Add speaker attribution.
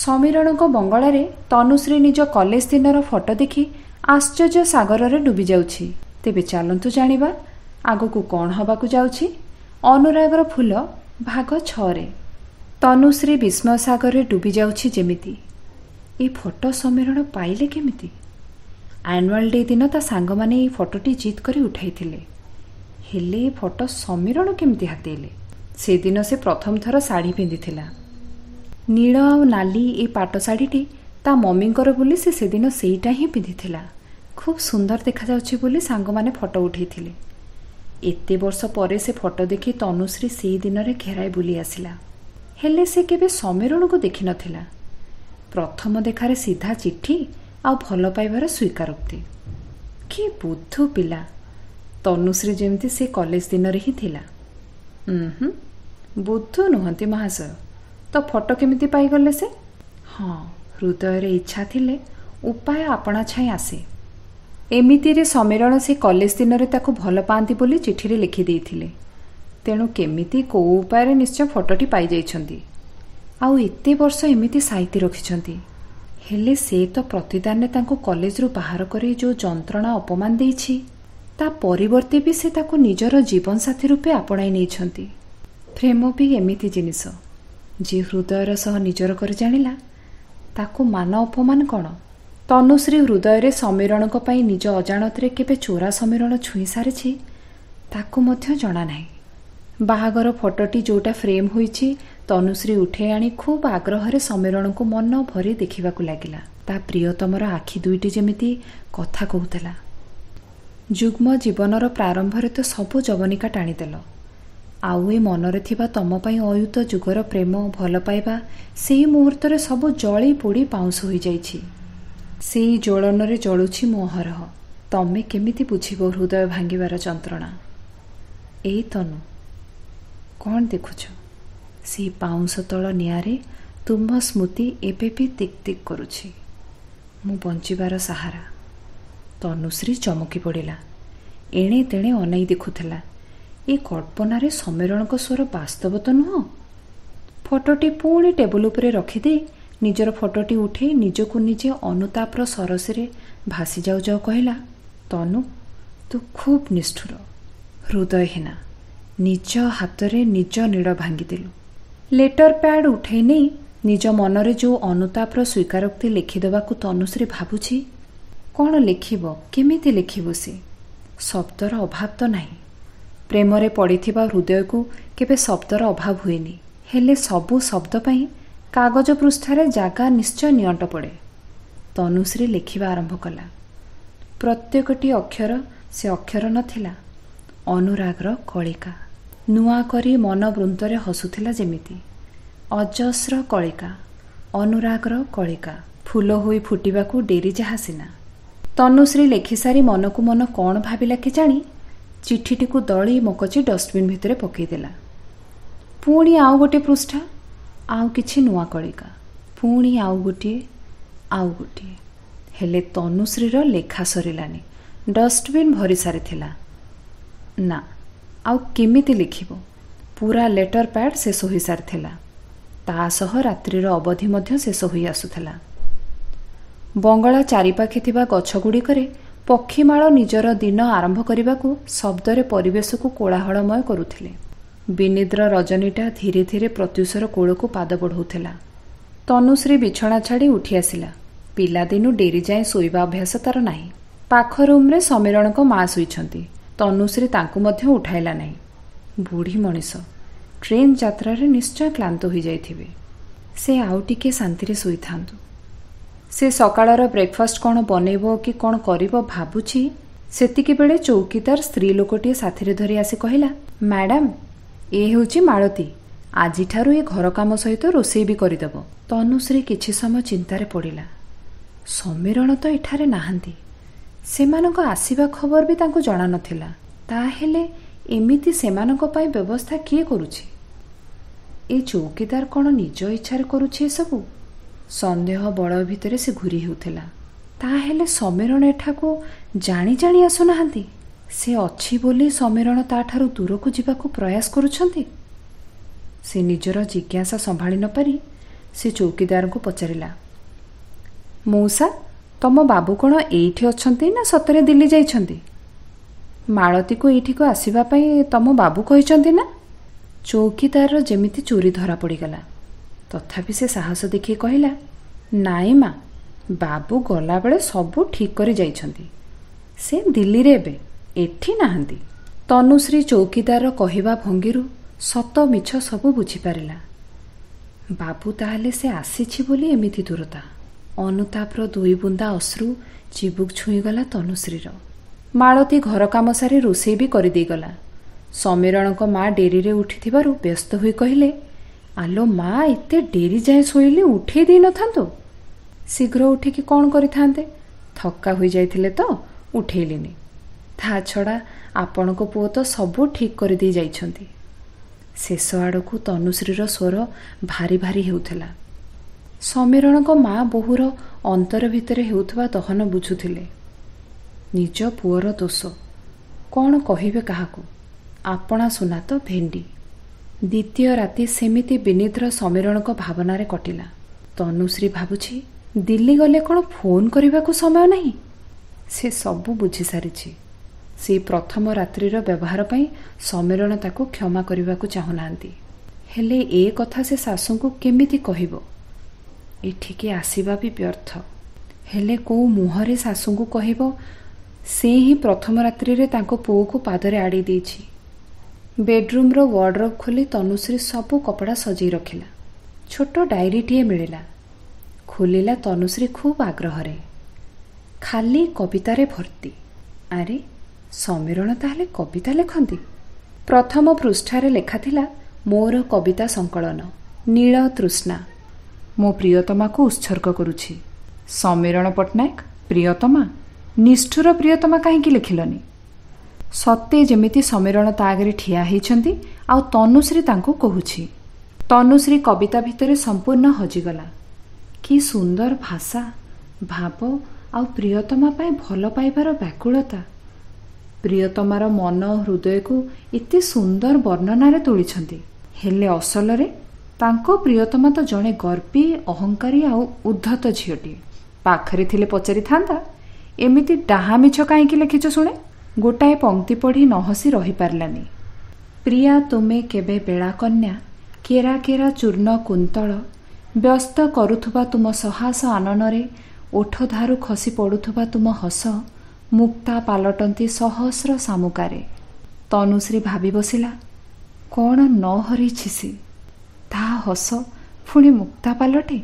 Speaker 1: ସମୀରଣଙ୍କ ବଙ୍ଗଳାରେ ତନୁଶ୍ରୀ ନିଜ କଲେଜ ଦିନର ଫଟୋ ଦେଖି ଆଶ୍ଚର୍ଯ୍ୟ ସାଗରରେ ଡୁବି ଯାଉଛି। ତେବେ ଚାଲନ୍ତୁ ଜାଣିବା ଆଗକୁ କ'ଣ ହେବାକୁ ଯାଉଛି ଅନୁରାଗର ଫୁଲ ଭାଗ 6ରେ। ତନୁଶ୍ରୀ ବିସ୍ମୟ ସାଗରରେ ଡୁବି ଯାଉଛି ଯେମିତି। ଏ ଫଟୋ ସମୀରଣ ପାଇଲେ କେମିତି? ଆନୁଆଲ୍ ଡେ ଦିନ ତା ସାଙ୍ଗମାନେ ଏଇ ଫଟୋଟି ଜିଦ୍ କରି ଉଠାଇଥିଲେ। ହେଲେ ଏ ଫଟୋ ସମୀରଣ କେମିତି ହାତେଇଲେ? ସେଦିନ ସେ ପ୍ରଥମ ଥର ଶାଢ଼ୀ ପିନ୍ଧିଥିଲା। ନୀଳ ଆଉ ନାଲି ଏ ପାଟ ଶାଢ଼ୀଟି ତା ମମିଙ୍କର ବୋଲି ସେ ସେଦିନ ସେଇଟା ହିଁ ପିନ୍ଧିଥିଲା। ଖୁବ୍ ସୁନ୍ଦର ଦେଖାଯାଉଛି ବୋଲି ସାଙ୍ଗମାନେ ଫଟୋ ଉଠାଇଥିଲେ। ଏତେ ବର୍ଷ ପରେ ସେ ଫଟୋ ଦେଖି ତନୁଶ୍ରୀ ସେଇ ଦିନରେ ଘେରାଏ ବୁଲି ଆସିଲା। ହେଲେ ସେ କେବେ ସମୀରଣକୁ ଦେଖିନଥିଲା। ପ୍ରଥମ ଦେଖାରେ ସିଧା ଚିଠି ଆଉ ଭଲ ପାଇବାର ସ୍ୱୀକାରୋକ୍ତି। କି ବୁଦ୍ଧୁ ପିଲା! ତନୁଶ୍ରୀ ଯେମିତି ସେ କଲେଜ ଦିନରେ ହିଁ ଥିଲା। ହୁଁ, ବୁଦ୍ଧୁ ନୁହନ୍ତି ମହାଶୟ, ତ ଫଟୋ କେମିତି ପାଇଗଲେ ସେ? ହଁ, ହୃଦୟରେ ଇଚ୍ଛା ଥିଲେ ଉପାୟ ଆପଣା ଛାଇଁ ଆସେ। ଏମିତିରେ ସମୀରଣ ସେ କଲେଜ ଦିନରେ ତାକୁ ଭଲ ପାଆନ୍ତି ବୋଲି ଚିଠିରେ ଲେଖିଦେଇଥିଲେ। ତେଣୁ କେମିତି କେଉଁ ଉପାୟରେ ନିଶ୍ଚୟ ଫଟୋଟି ପାଇଯାଇଛନ୍ତି। ଆଉ ଏତେ ବର୍ଷ ଏମିତି ସାଇତି ରଖିଛନ୍ତି। ହେଲେ ସେ ତ ପ୍ରତିଦାନରେ ତାଙ୍କୁ କଲେଜରୁ ବାହାର କରି ଯେଉଁ ଯନ୍ତ୍ରଣା ଅପମାନ ଦେଇଛି, ତା ପରିବର୍ତ୍ତେ ବି ସେ ତାକୁ ନିଜର ଜୀବନସାଥୀ ରୂପେ ଆପଣାଇ ନେଇଛନ୍ତି। ପ୍ରେମ ବି ଏମିତି ଜିନିଷ, ଯିଏ ହୃଦୟର ସହ ନିଜର କରି ଜାଣିଲା ତାକୁ ମାନ ଅପମାନ କ'ଣ? ତନୁଶ୍ରୀ ହୃଦୟରେ ସମୀରଣଙ୍କ ପାଇଁ ନିଜ ଅଜାଣତରେ କେବେ ଚୋରା ସମୀରଣ ଛୁଇଁ ସାରିଛି ତାକୁ ମଧ୍ୟ ଜଣା ନାହିଁ। ବାହାଘର ଫଟୋଟି ଯେଉଁଟା ଫ୍ରେମ୍ ହୋଇଛି ତନୁଶ୍ରୀ ଉଠେଇ ଆଣି ଖୁବ୍ ଆଗ୍ରହରେ ସମୀରଣଙ୍କୁ ମନ ଭରି ଦେଖିବାକୁ ଲାଗିଲା। ତା ପ୍ରିୟତମର ଆଖି ଦୁଇଟି ଯେମିତି କଥା କହୁଥିଲା। ଯୁଗ୍ମ ଜୀବନର ପ୍ରାରମ୍ଭରେ ତ ସବୁ ଜବନିକା ଟାଣିଦେଲ, ଆଉ ଏ ମନରେ ଥିବା ତମ ପାଇଁ ଅୟୁତ ଯୁଗର ପ୍ରେମ ଭଲ ପାଇବା ସେଇ ମୁହୂର୍ତ୍ତରେ ସବୁ ଜଳି ପୋଡ଼ି ପାଉଁଶ ହୋଇଯାଇଛି। ସେଇ ଜ୍ୱଳନରେ ଜଳୁଛି ମୁଁ ଅହରହ। ତମେ କେମିତି ବୁଝିବ ହୃଦୟ ଭାଙ୍ଗିବାର ଯନ୍ତ୍ରଣା? ଏଇ ତନୁ, କ'ଣ ଦେଖୁଛ? ସେଇ ପାଉଁଶ ତଳ ନିଆଁରେ ତୁମ ସ୍ମୃତି ଏବେ ବି ତିକ୍ ତିକ୍ କରୁଛି। ମୁଁ ବଞ୍ଚିବାର ସାହାରା। ତନୁଶ୍ରୀ ଚମକି ପଡ଼ିଲା। ଏଣେ ତେଣେ ଅନାଇ ଦେଖୁଥିଲା। ଏ କଳ୍ପନାରେ ସମୀରଣଙ୍କ ସ୍ୱର ବାସ୍ତବ ତ ନୁହଁ? ଫଟୋଟି ପୁଣି ଟେବୁଲ ଉପରେ ରଖିଦେଇ ନିଜର ଫଟୋଟି ଉଠେଇ ନିଜକୁ ନିଜେ ଅନୁତାପର ସରସରେ ଭାସି ଯାଉ ଯାଉ କହିଲା, ତନୁ, ତୁ ଖୁବ୍ ନିଷ୍ଠୁର, ହୃଦୟହୀନା। ନିଜ ହାତରେ ନିଜ ନୀଡ଼ ଭାଙ୍ଗିଦେଲୁ। ଲେଟର ପ୍ୟାଡ୍ ଉଠେଇ ନେଇ ନିଜ ମନରେ ଯେଉଁ ଅନୁତାପର ସ୍ୱୀକାରୋକ୍ତି ଲେଖିଦେବାକୁ ତନୁଶ୍ରୀ ଭାବୁଛି, କ'ଣ ଲେଖିବ, କେମିତି ଲେଖିବ ସେ? ଶବ୍ଦର ଅଭାବ ତ ନାହିଁ। ପ୍ରେମରେ ପଡ଼ିଥିବା ହୃଦୟକୁ କେବେ ଶବ୍ଦର ଅଭାବ ହୁଏନି। ହେଲେ ସବୁ ଶବ୍ଦ ପାଇଁ କାଗଜ ପୃଷ୍ଠାରେ ଜାଗା ନିଶ୍ଚୟ ନିଅଣ୍ଟ ପଡ଼େ। ତନୁଶ୍ରୀ ଲେଖିବା ଆରମ୍ଭ କଲା। ପ୍ରତ୍ୟେକଟି ଅକ୍ଷର ସେ ଅକ୍ଷର ନଥିଲା, ଅନୁରାଗର କଳିକା। ନୂଆ କରି ମନ ବୃନ୍ତରେ ହସୁଥିଲା ଯେମିତି। ଅଜସ୍ର କଳିକା, ଅନୁରାଗର କଳିକା, ଫୁଲ ହୋଇ ଫୁଟିବାକୁ ଡେରି ଯାହା ସିନା। ତନୁଶ୍ରୀ ଲେଖିସାରି ମନକୁ ମନ କ'ଣ ଭାବିଲା କେଜାଣି, ଚିଠିଟିକୁ ଦଳି ମକଚି ଡଷ୍ଟବିନ୍ ଭିତରେ ପକାଇଦେଲା। ପୁଣି ଆଉ ଗୋଟିଏ ପୃଷ୍ଠା, ଆଉ କିଛି ନୂଆ କଳିକା, ପୁଣି ଆଉ ଗୋଟିଏ, ଆଉ ଗୋଟିଏ। ହେଲେ ତନୁଶ୍ରୀର ଲେଖା ସରିଲାନି। ଡଷ୍ଟବିନ୍ ଭରି ସାରିଥିଲା। ନା, ଆଉ କେମିତି ଲେଖିବ? ପୁରା ଲେଟର ପ୍ୟାଡ୍ ଶେଷ ହୋଇସାରିଥିଲା। ତା ସହ ରାତ୍ରିର ଅବଧି ମଧ୍ୟ ଶେଷ ହୋଇ ଆସୁଥିଲା। ବଙ୍ଗଳା ଚାରିପାଖେ ଥିବା ଗଛଗୁଡ଼ିକରେ ପକ୍ଷୀମାଳ ନିଜର ଦିନ ଆରମ୍ଭ କରିବାକୁ ଶବ୍ଦରେ ପରିବେଶକୁ କୋଳାହଳମୟ କରୁଥିଲେ। ବିନିଦ୍ର ରଜନୀଟା ଧୀରେ ଧୀରେ ପ୍ରତ୍ୟୁଷର କୋଳକୁ ପାଦ ବଢ଼ାଉଥିଲା। ତନୁଶ୍ରୀ ବିଛଣା ଛାଡ଼ି ଉଠି ଆସିଲା। ପିଲାଦିନୁ ଡେରି ଯାଏଁ ଶୋଇବା ଅଭ୍ୟାସ ତାର ନାହିଁ। ପାଖ ରୁମ୍ରେ ସମୀରଣଙ୍କ ମା ଶୋଇଛନ୍ତି। ତନୁଶ୍ରୀ ତାଙ୍କୁ ମଧ୍ୟ ଉଠାଇଲା ନାହିଁ। ବୁଢ଼ୀ ମଣିଷ, ଟ୍ରେନ୍ ଯାତ୍ରାରେ ନିଶ୍ଚୟ କ୍ଳାନ୍ତ ହୋଇଯାଇଥିବେ। ସେ ଆଉ ଟିକିଏ ଶାନ୍ତିରେ ଶୋଇଥାନ୍ତୁ। ସେ ସକାଳର ବ୍ରେକଫାଷ୍ଟ କ'ଣ ବନେଇବ କି କ'ଣ କରିବ ଭାବୁଛି, ସେତିକିବେଳେ ଚୌକିଦାର ସ୍ତ୍ରୀ ଲୋକଟିଏ ସାଥିରେ ଧରି ଆସି କହିଲା, ମ୍ୟାଡାମ୍, ଏ ହେଉଛି ମାଳତୀ। ଆଜିଠାରୁ ଏ ଘର କାମ ସହିତ ରୋଷେଇ ବି କରିଦେବ। ତନୁଶ୍ରୀ କିଛି ସମୟ ଚିନ୍ତାରେ ପଡ଼ିଲା। ସମୀରଣ ତ ଏଠାରେ ନାହାନ୍ତି। ସେମାନଙ୍କ ଆସିବା ଖବର ବି ତାଙ୍କୁ ଜଣା ନଥିଲା। ତାହେଲେ ଏମିତି ସେମାନଙ୍କ ପାଇଁ ବ୍ୟବସ୍ଥା କିଏ କରୁଛି? ଏ ଚୌକିଦାର କ'ଣ ନିଜ ଇଚ୍ଛାରେ କରୁଛି ଏସବୁ? ସନ୍ଦେହ ବଳୟ ଭିତରେ ସେ ଘୂରି ହେଉଥିଲା। ତାହେଲେ ସମୀରଣ ଏଠାକୁ ଜାଣି ଜାଣି ଆସୁନାହାନ୍ତି? ସେ ଅଛି ବୋଲି ସମୀରଣ ତାଠାରୁ ଦୂରକୁ ଯିବାକୁ ପ୍ରୟାସ କରୁଛନ୍ତି? ସେ ନିଜର ଜିଜ୍ଞାସା ସମ୍ଭାଳି ନପାରି ସେ ଚୌକିଦାରଙ୍କୁ ପଚାରିଲା, ମଉସା, ତମ ବାବୁ କ'ଣ ଏଇଠି ଅଛନ୍ତି ନା ସତରେ ଦିଲ୍ଲୀ ଯାଇଛନ୍ତି? ମାଳତୀକୁ ଏଇଠିକୁ ଆସିବା ପାଇଁ ତମ ବାବୁ କହିଛନ୍ତି ନା? ଚୌକିଦାରର ଯେମିତି ଚୋରି ଧରା ପଡ଼ିଗଲା। ତଥାପି ସେ ସାହସ ଦେଖି କହିଲା, ନାଇଁ ମା, ବାବୁ ଗଲାବେଳେ ସବୁ ଠିକ୍ କରି ଯାଇଛନ୍ତି। ସେ ଦିଲ୍ଲୀରେ ଏବେ, ଏଠି ନାହାନ୍ତି। ତନୁଶ୍ରୀ ଚୌକିଦାରର କହିବା ଭଙ୍ଗୀରୁ ସତ ମିଛ ସବୁ ବୁଝିପାରିଲା। ବାବୁ ତାହେଲେ ସେ ଆସିଛି ବୋଲି ଏମିତି ଦୂରତା। ଅନୁତାପର ଦୁଇ ବୁନ୍ଦା ଅଶ୍ରୁ ଚିବୁକ ଛୁଇଁଗଲା ତନୁଶ୍ରୀର। ମାଳତୀ ଘର କାମ ସାରି ରୋଷେଇ ବି କରିଦେଇଗଲା। ସମୀରଣଙ୍କ ମା ଡେରିରେ ଉଠିଥିବାରୁ ବ୍ୟସ୍ତ ହୋଇ କହିଲେ, ଆଲୋ ମା, ଏତେ ଡେରି ଯାଏଁ ଶୋଇଲେ ଉଠେଇ ଦେଇନଥାନ୍ତୁ? ଶୀଘ୍ର ଉଠିକି କ'ଣ କରିଥାନ୍ତେ, ଥକ୍କା ହୋଇଯାଇଥିଲେ ତ ଉଠେଇଲିନି। ତା ଛଡ଼ା ଆପଣଙ୍କ ପୁଅ ତ ସବୁ ଠିକ୍ କରିଦେଇ ଯାଇଛନ୍ତି। ଶେଷ ଆଡ଼କୁ ତନୁଶ୍ରୀର ସ୍ୱର ଭାରି ଭାରି ହେଉଥିଲା। ସମୀରଣଙ୍କ ମା ବୋହୂର ଅନ୍ତର ଭିତରେ ହେଉଥିବା ଦହନ ବୁଝୁଥିଲେ। ନିଜ ପୁଅର ଦୋଷ କ'ଣ କହିବେ କାହାକୁ? ଆପଣା ସୁନା ତ ଭେଣ୍ଡି। ଦ୍ୱିତୀୟ ରାତି ସେମିତି ବିନିଦ୍ର ସମୀରଣଙ୍କ ଭାବନାରେ କଟିଲା। ତନୁଶ୍ରୀ ଭାବୁଛି, ଦିଲ୍ଲୀ ଗଲେ କ'ଣ ଫୋନ୍ କରିବାକୁ ସମୟ ନାହିଁ? ସେ ସବୁ ବୁଝିସାରିଛି। ସେଇ ପ୍ରଥମ ରାତ୍ରିର ବ୍ୟବହାର ପାଇଁ ସମୀରଣ ତାକୁ କ୍ଷମା କରିବାକୁ ଚାହୁଁନାହାନ୍ତି। ହେଲେ ଏ କଥା ସେ ଶାଶୁଙ୍କୁ କେମିତି କହିବ? ଏଠିକି ଆସିବା ବି ବ୍ୟର୍ଥ। ହେଲେ କୋଉ ମୁହଁରେ ଶାଶୁଙ୍କୁ କହିବ ସେ ହିଁ ପ୍ରଥମ ରାତ୍ରିରେ ତାଙ୍କ ପୁଅକୁ ପାଦରେ ଆଡ଼େଇ ଦେଇଛି? ବେଡ୍ରୁମ୍ର ୱାର୍ଡରୋବ୍ ଖୋଲି ତନୁଶ୍ରୀ ସବୁ କପଡ଼ା ସଜେଇ ରଖିଲା। ଛୋଟ ଡାଏରୀଟିଏ ମିଳିଲା। ଖୋଲିଲା ତନୁଶ୍ରୀ ଖୁବ୍ ଆଗ୍ରହରେ। ଖାଲି କବିତାରେ ଭର୍ତ୍ତି। ଆରେ, ସମୀରଣ ତାହେଲେ କବିତା ଲେଖନ୍ତି? ପ୍ରଥମ ପୃଷ୍ଠାରେ ଲେଖାଥିଲା, ମୋର କବିତା ସଂକଳନ ନୀଳ ତୃଷ୍ଣା ମୋ ପ୍ରିୟତମାକୁ ଉତ୍ସର୍ଗ କରୁଛି। ସମୀରଣ ପଟ୍ଟନାୟକ। ପ୍ରିୟତମା? ନିଷ୍ଠୁର ପ୍ରିୟତମା କାହିଁକି ଲେଖିଲନି? ସତେ ଯେମିତି ସମୀରଣ ତା ଆଗରେ ଠିଆ ହେଇଛନ୍ତି ଆଉ ତନୁଶ୍ରୀ ତାଙ୍କୁ କହୁଛି। ତନୁଶ୍ରୀ କବିତା ଭିତରେ ସମ୍ପୂର୍ଣ୍ଣ ହଜିଗଲା। କି ସୁନ୍ଦର ଭାଷା, ଭାବ ଆଉ ପ୍ରିୟତମା ପାଇଁ ଭଲ ପାଇବାର ବ୍ୟାକୁଳତା। ପ୍ରିୟତମାର ମନ ହୃଦୟକୁ ଏତେ ସୁନ୍ଦର ବର୍ଣ୍ଣନାରେ ତୋଳିଛନ୍ତି। ହେଲେ ଅସଲରେ ତାଙ୍କ ପ୍ରିୟତମା ତ ଜଣେ ଗର୍ବୀ, ଅହଙ୍କାରୀ ଆଉ ଉଦ୍ଧତ ଝିଅଟିଏ। ପାଖରେ ଥିଲେ ପଚାରିଥାନ୍ତା, ଏମିତି ଡାହା ମିଛ କାହିଁକି ଲେଖିଛ ଶୁଣେ? ଗୋଟାଏ ପଙ୍କ୍ତି ପଢ଼ି ନ ହସି ରହିପାରିଲାନି। ପ୍ରିୟା ତୁମେ କେବେ ବେଳାକନ୍ୟା, କେରା କେରା ଚୂର୍ଣ୍ଣ କୁନ୍ତଳ ବ୍ୟସ୍ତ କରୁଥିବା ତୁମ ସହାସ ଆନନରେ ଓଠଧାରୁ ଖସି ପଡ଼ୁଥିବା ତୁମ ହସ ମୁକ୍ତା ପାଲଟନ୍ତି ସହସ୍ର ଶାମୁକାରେ। ତନୁଶ୍ରୀ ଭାବି ବସିଲା, କ'ଣ ନ ହରେଇଛି ସେ? ତା ହସ ପୁଣି ମୁକ୍ତା ପାଲଟେ?